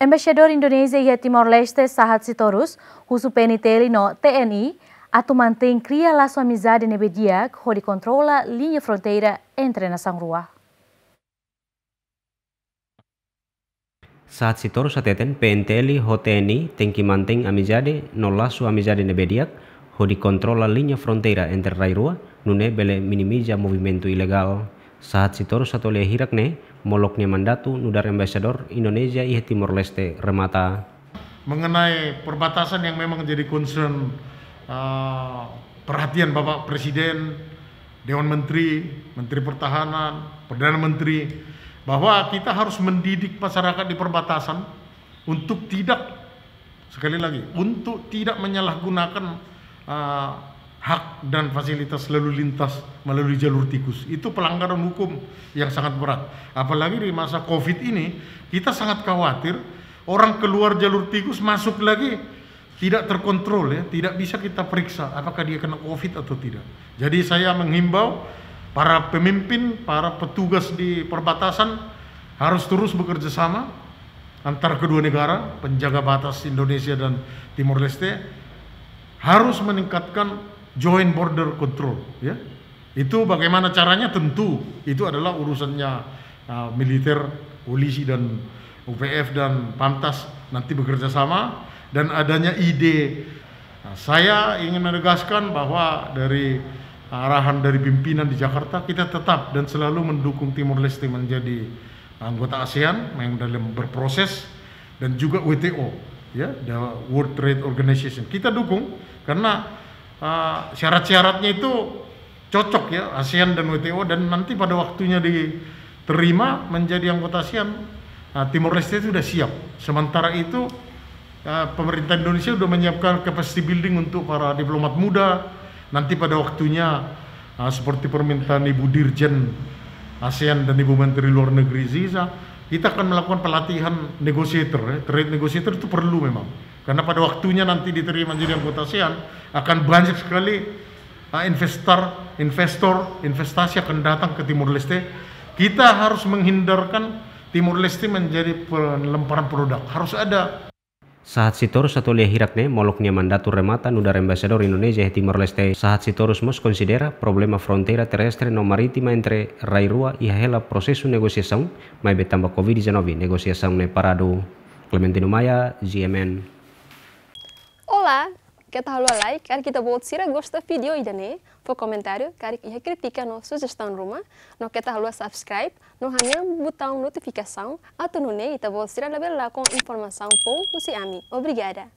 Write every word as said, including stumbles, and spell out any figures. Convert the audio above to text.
Embaixadór Indonézia iha Timor-Leste, Sahat Sitorus, husu P N T L no T N I atu mantein kria lasu amizade ne'ebé di'ak hodi kontrola liña fronteira entre nasaun rua. Sahat Sitorus hateten P N T L ho T N I tenke mantein amizade no lasu amizade ne'ebé di'ak hodi kontrola liña fronteira entre rai rua, nune'e bele minimiza movimentu ilegál. Sahat Sitorus atu lee hirak ne'e, molok nia mandatu nu'udar Embaixadór Indonézia iha Timor-Leste remata. Mengenai perbatasan yang memang jadi concern, uh, perhatian Bapak Presiden, Dewan Menteri, Menteri Pertahanan, Perdana Menteri, bahwa kita harus mendidik masyarakat di perbatasan untuk tidak, sekali lagi, untuk tidak menyalahgunakan, uh, hak dan fasilitas lalu lintas melalui jalur tikus. Itu pelanggaran hukum yang sangat berat. Apalagi di masa covid ini, kita sangat khawatir orang keluar jalur tikus masuk lagi tidak terkontrol, ya, tidak bisa kita periksa apakah dia kena covid atau tidak. Jadi saya menghimbau para pemimpin, para petugas di perbatasan harus terus bekerja sama antar kedua negara, penjaga batas Indonesia dan Timor Leste harus meningkatkan joint border control, ya. Itu bagaimana caranya, tentu itu adalah urusannya, uh, militer, polisi dan U P F dan Pamtas nanti bekerja sama, dan adanya ide. Nah, saya ingin menegaskan bahwa dari arahan dari pimpinan di Jakarta, kita tetap dan selalu mendukung Timor Leste menjadi anggota ASEAN yang dalam berproses, dan juga W T O, ya, the World Trade Organization. Kita dukung karena, uh, syarat-syaratnya itu cocok, ya, ASEAN dan W T O, dan nanti pada waktunya diterima menjadi anggota ASEAN, uh, Timor Leste sudah siap. Sementara itu, uh, pemerintah Indonesia sudah menyiapkan capacity building untuk para diplomat muda. Nanti pada waktunya, uh, seperti permintaan Ibu Dirjen ASEAN dan Ibu Menteri Luar Negeri Ziza, kita akan melakukan pelatihan negotiator, ya. Trade negotiator itu perlu memang. Karena pada waktunya nanti diterima jadi anggota ASEAN, akan banyak sekali, uh, investor, investor, investasi akan datang ke Timor Leste. Kita harus menghindarkan Timor Leste menjadi pelemparan produk. Harus ada. Sahat Sitorus atu lee hirak ne'e, molok nia mandatu remata nu'udar Embaixadór Indonézia iha Timor-Leste. Sahat Sitorus mós konsidera problema fronteira terrestre no marítima entre rai rua iha hela prosesu negosiasaun, maibé tanba covid dezanove negosiasaun ne'e paradu. Clementino Maia, G M N. Olá, keta haluha like, karik ita-boot sira gosta vídeo ida-ne'e, fó komentáriu, karik iha krítika no sujestaun ruma, no keta haluha subscribe, no hanehan butaun notifikasaun, atu nune'e ita-boot sira labele lakon informasaun foun husi ami. Obrigada.